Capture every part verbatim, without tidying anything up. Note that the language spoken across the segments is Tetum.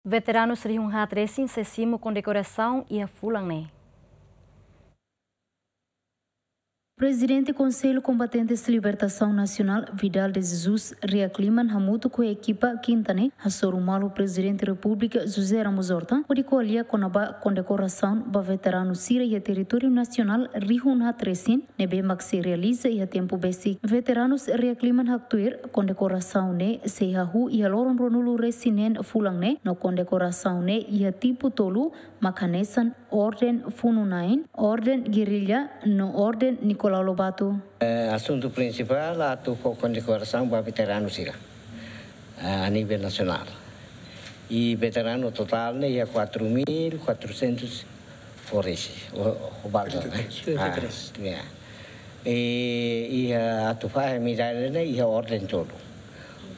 Veteranus rihun haat resin sei simu kondekorasaun iha fulan ne'e. Prezidente Konsellu Kombatentes Libertasaun Nasionál, Vidal de Jesus Riakliman, hamutuk ho ekipa, kinta ne'e hasoru malu Prezidente Repúblika José Ramos Horta hodi ko'alia kona-ba kondekorasaun ba veteranu sira iha territóriu nasionál rihun haat resin ne'ebé mak sei realiza iha tempu besik. Veteranus Riakliman haktuir kondekorasaun ne'e sei hahú iha loron ruanulu resin neen fulan ne'e, no kondekorasaun ne'e iha tipu tolu, mak hanesan Orden Funu-na'in, Orden Gerrilla no Orden Nicolau Lobato. Eh, asuntu prinsipál atu fó kondekorasaun ba veteranu sira, eh, a nivel nasionál. I veteranu totál ne'e iha quatro mil quatrocentos ho resin, ho, ho balda, eh? Trinta e três. Ah, ya. I, iha atu fahe medalla ne'e iha orden tolu.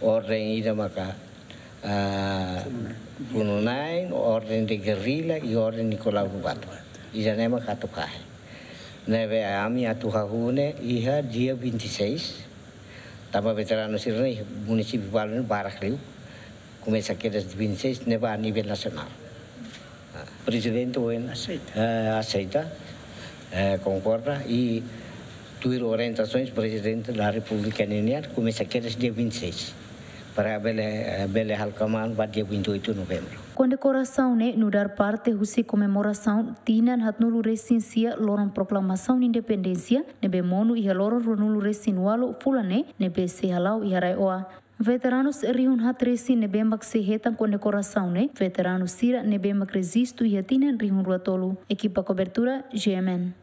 Orden ida maka, ah, Funu-na'in, Orden de Gerrilla i Orden Nicolau Lobato. Ida-ne'e maka atu fahe. Ne'ebé ami atu hahú ne'e iha dia vinte e seis. Tanba veteranu sira-ne'e munisípiu balu ne'e barak liu. Komesa kedas vinte e seis ne'ebá a nivel nasionál. Ah, Prezidente ohin, aseita, eh, aseita, eh, konkorda i tuir orientasaun Prezidente da Repúblika ninian, komesa kedas dia vinte e seis. Para bele, eh, bele halo kmaan ba dia vinte e oito novembru. Kondekorasaun ne'e nu'udar parte husi komemorasaun tinan haatnulu resin sia loron proklamasaun independénsia, ne'ebé monu iha loron ruanulu resin ualu fulan ne'e, ne'ebé sei hala'o iha RAEOA. Veteranus rihun haat resin ne'ebé mak sei hetan kondekorasaun ne'e veteranu sira ne'ebé mak rejistu iha tinan rihun rua tolu. Ekipa kobertura, G M N.